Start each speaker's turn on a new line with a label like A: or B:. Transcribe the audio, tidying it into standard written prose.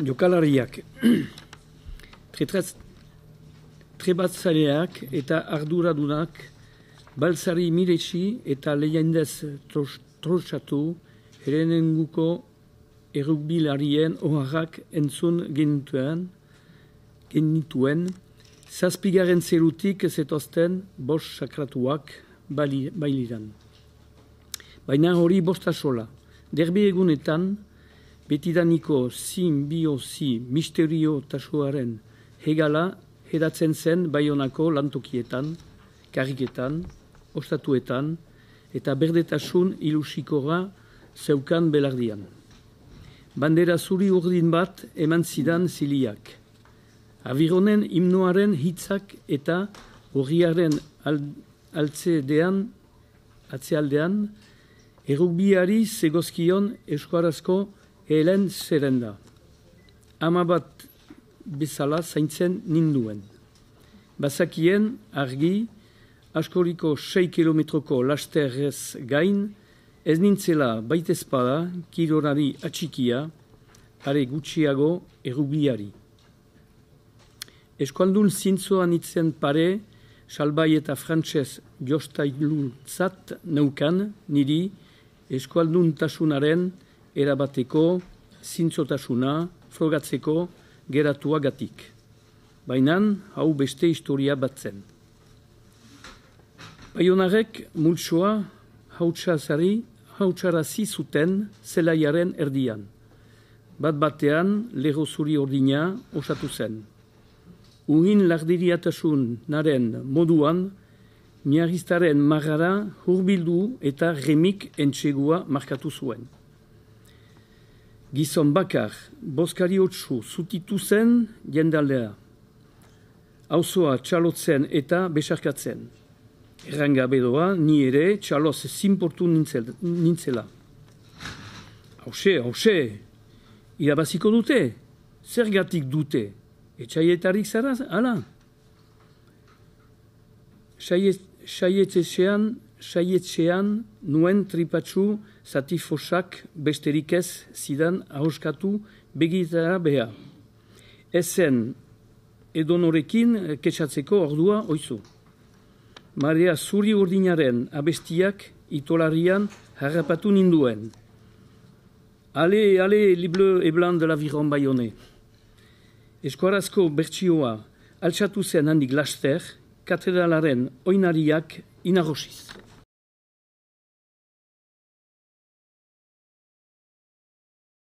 A: Jokalariak, trebatzaileak eta arduradunak baltzari miretsi eta lehiandez trosatu herenenguko errugbilarien oharrak entzun genituen, zazpigaren zerutik zetozten bost sakratuak bailiran. Baina hori bosta sola, derbi egunetan, betidaniko simbiosi misterio tasuaren hegala hedatzen zen Baionako lantokietan, karriketan, ostatuetan eta berdetasun ilusikora zeukan belardian. Bandera zuri urdin bat eman zidan ziliak. Abironen himnoaren hitzak eta horriaren atzealdean errugbiari zegozkion euskarazko helen zerrenda. Ama bat bezala zaintzen ninduen. Bazakien argi, askoriko 6 kilometroko lasterrez gain, ez nintzela baitezpada kirolari atxikia, are gutxiago errugbiari. Eskualdun zintzoan itzen pare, salbai eta frantses jostailuntzat neukan niri eskualdun tasunaren erabateko zintzotasuna frogatzeko geratuagatik. Baina hau beste historia bat zen. Baionarek multsoa hautsarazi zuten zelaiaren erdian. Bat batean lerro zuri ordina osatu zen. Uhin lardiriatasunaren moduan, miaristaren marrara hurbildu eta remik entsegua markatu zuen. Gizon bakar, boskariotsu zutitu zen jendaldea. Auzoa txalotzen eta besarkatzen. Errangabe doa, ni ere txaloz zinportu nintzela. Hauxe, irabaziko dute, zergatik dute, etxaietarik zara, ala? Saietxean nuen tripatsu zatifosak besterik ez zidan ahoskatu begitara beha. Ezen edonorekin ketxatzeko ordua oizu. Marea zuri urdinaren abestiak itolarian harrapatu ninduen. Ale, les bleus et blancs de l'Aviron Bayonnais. Eskuarazko bertsioa altxatu zen handik laster, katedralaren oinariak inarrosiz.